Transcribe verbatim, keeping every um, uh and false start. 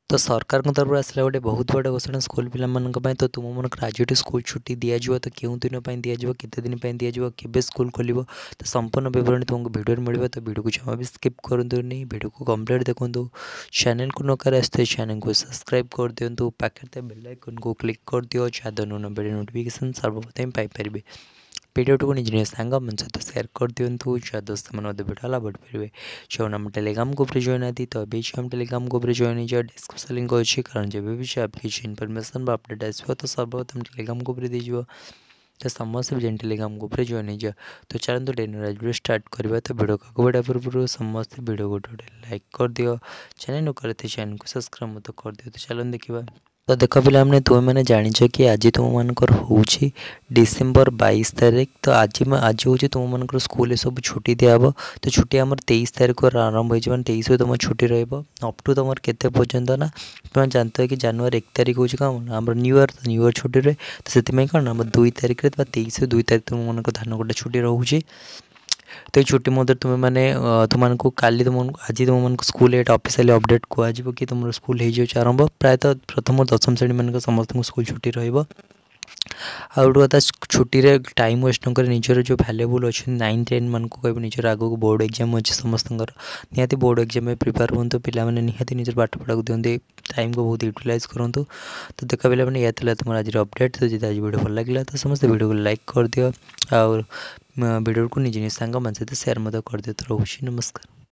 ତ ସରକାରଙ୍କ ତରଫରୁ ଆସିଲା ଗୋଟେ ବହୁତ ବଡ଼ ଘୋଷଣା ସ୍କୁଲ ପିଲାମାନଙ୍କ ପାଇଁ। ତ ତୁମମାନଙ୍କର ଆଜିଠୁ ସ୍କୁଲ ଛୁଟି ଦିଆଯିବ। ତ କେଉଁ ଦିନ ପାଇଁ ଦିଆଯିବ, କେତେ ଦିନ ପାଇଁ ଦିଆଯିବ, କେବେ ସ୍କୁଲ ଖୋଲିବ, ତ ସମ୍ପୂର୍ଣ୍ଣ ବିବରଣୀ ତୁମକୁ ଭିଡ଼ିଓରେ ମିଳିବ। ତ ଭିଡ଼ିଓକୁ ଜମା ବି ସ୍କିପ୍ କରନ୍ତୁନି, ଭିଡ଼ିଓକୁ କମ୍ପ୍ଲିଟ୍ ଦେଖନ୍ତୁ। ଚ୍ୟାନେଲକୁ ନ କରି ଆସିଥିବେ, ଚ୍ୟାନେଲକୁ ସବସ୍କ୍ରାଇବ୍ କରିଦିଅନ୍ତୁ, ପାଖରେ ଥିବା ବେଲ୍ ଆଇକନ୍କୁ କ୍ଲିକ୍ କରିଦିଅ, ଯାହାଦ୍ୱାରା ନୂଆ ଭିଡ଼ିଓ ନୋଟିଫିକେସନ୍ ସର୍ବପ୍ରଥମେ ପାଇପାରିବେ। ଭିଡ଼ିଓଟିକୁ ନିଜ ନିଜ ସାଙ୍ଗମାନଙ୍କ ସହିତ ସେୟାର କରିଦିଅନ୍ତୁ, ଯାହାଦ୍ୱାରା ସେମାନେ ମଧ୍ୟ ଭିଡ଼ିଓ ଲାଭ ଉଠାଇପାରିବେ। ଯେଉଁମାନେ ଆମ ଟେଲିଗ୍ରାମ ଗ୍ରୁପ୍ରେ ଜଏନ୍ ନାହାନ୍ତି, ତ ଏବେ ଆମ ଟେଲିଗ୍ରାମ ଗ୍ରୁପ୍ରେ ଜଏନ୍ ହେଇଯାଅ। ଡିସ୍କ୍ରିପ୍ସନ୍ ଲିଙ୍କ୍ ଅଛି, କାରଣ ଯେବେ ବି ଯାହା କିଛି ଇନଫର୍ମେସନ୍ ବା ଅପଡ଼େଟ୍ ଆସିବ, ତ ସର୍ବପ୍ରଥମେ ଟେଲିଗ୍ରାମ ଗ୍ରୁପ୍ରେ ଦେଇଯିବ। ତ ସମସ୍ତେ ବି ଯାଇ ଟେଲିଗ୍ରାମ ଗ୍ରୁପ୍ରେ ଜଏନ୍ ହେଇଯାଅ। ତ ଚାଲନ୍ତୁ ଡେନର ଭିଡ଼ିଓ ଷ୍ଟାର୍ଟ କରିବା। ତ ଭିଡ଼ିଓ ଆଗକୁ ବଢ଼ିବା ପୂର୍ବରୁ ସମସ୍ତେ ଭିଡ଼ିଓ ଗୋଟେ ଗୋଟେ ଲାଇକ୍ କରିଦିଅ, ଚ୍ୟାନେଲ୍ ନ କରିଥିଲେ ଚ୍ୟାନେଲକୁ ସବସ୍କ୍ରାଇବ୍ ମଧ୍ୟ କରିଦିଅ। ତ ଚାଲନ୍ତୁ ଦେଖିବା। ତ ଦେଖ ପିଲାମାନେ, ତୁମେମାନେ ଜାଣିଛ କି ଆଜି ତୁମମାନଙ୍କର ହେଉଛି ଡିସେମ୍ବର ବାଇଶ ତାରିଖ। ତ ଆଜି ଆଜି ହେଉଛି ତୁମମାନଙ୍କର ସ୍କୁଲରେ ସବୁ ଛୁଟି ଦିଆହେବ। ତ ଛୁଟି ଆମର ତେଇଶ ତାରିଖରୁ ଆରମ୍ଭ ହେଇଯିବ, ମାନେ ତେଇଶରୁ ତୁମ ଛୁଟି ରହିବ ଅପ୍ ଟୁ ତୁମର କେତେ ପର୍ଯ୍ୟନ୍ତ ନା ତୁମେ ଜାଣିଥିବ କି ଜାନୁଆରୀ ଏକ ତାରିଖ ହେଉଛି କ'ଣ ଆମର ନ୍ୟୁ ଇୟର୍, ନ୍ୟୁ ଇୟର୍ ଛୁଟି ରୁହେ। ତ ସେଥିପାଇଁ କ'ଣ ଆମର ଦୁଇ ତାରିଖରେ ବା ତେଇଶରୁ ଦୁଇ ତାରିଖ ତୁମମାନଙ୍କ ଧାନ କଟା ଛୁଟି ରହୁଛି। ତ ଏଇ ଛୁଟି ମଧ୍ୟରେ ତୁମେମାନେ ତୁମମାନଙ୍କୁ କାଲି ତୁମମାନଙ୍କୁ ଆଜି ତୁମମାନଙ୍କୁ ସ୍କୁଲରେ ଏଇଟା ଅଫିସିଆଲି ଅପଡ଼େଟ୍ କୁହାଯିବ କି ତୁମର ସ୍କୁଲ ହେଇଯାଉଛି ଆରମ୍ଭ। ପ୍ରାୟତଃ ପ୍ରଥମ ଦଶମ ଶ୍ରେଣୀମାନଙ୍କ ସମସ୍ତଙ୍କୁ ସ୍କୁଲ ଛୁଟି ରହିବ। ଆଉ ଗୋଟେ କଥା, ଛୁଟିରେ ଟାଇମ୍ ୱେଷ୍ଟ ନ କରି ନିଜର ଯେଉଁ ଭ୍ୟାଲୁଏବୁଲ୍ ଅଛନ୍ତି ନାଇନ୍ ଟେନ୍ ମାନଙ୍କୁ କହିବ, ନିଜର ଆଗକୁ ବୋର୍ଡ଼ ଏକ୍ଜାମ୍ ଅଛି ସମସ୍ତଙ୍କର, ନିହାତି ବୋର୍ଡ଼ ଏକ୍ଜାମ୍ ପାଇଁ ପ୍ରିପେୟାର ହୁଅନ୍ତୁ ପିଲାମାନେ, ନିହାତି ନିଜର ପାଠ ପଢ଼ାକୁ ଦିଅନ୍ତି, ଟାଇମ୍କୁ ବହୁତ ୟୁଟିଲାଇଜ୍ କରନ୍ତୁ। ତ ଦେଖ ପିଲାମାନେ, ଏଇଆ ଥିଲା ତୁମର ଆଜିର ଅପଡ଼େଟ୍। ତ ଯଦି ଆଜି ଭିଡ଼ିଓ ଭଲ ଲାଗିଲା, ତ ସମସ୍ତେ ଭିଡ଼ିଓକୁ ଲାଇକ୍ କରିଦିଅ ଆଉ ଭିଡ଼ିଓକୁ ନିଜ ନିଜ ସାଙ୍ଗମାନଙ୍କ ସହିତ ସେୟାର ମଧ୍ୟ କରିଦିଅ। ତ ରହୁଛି, ନମସ୍କାର।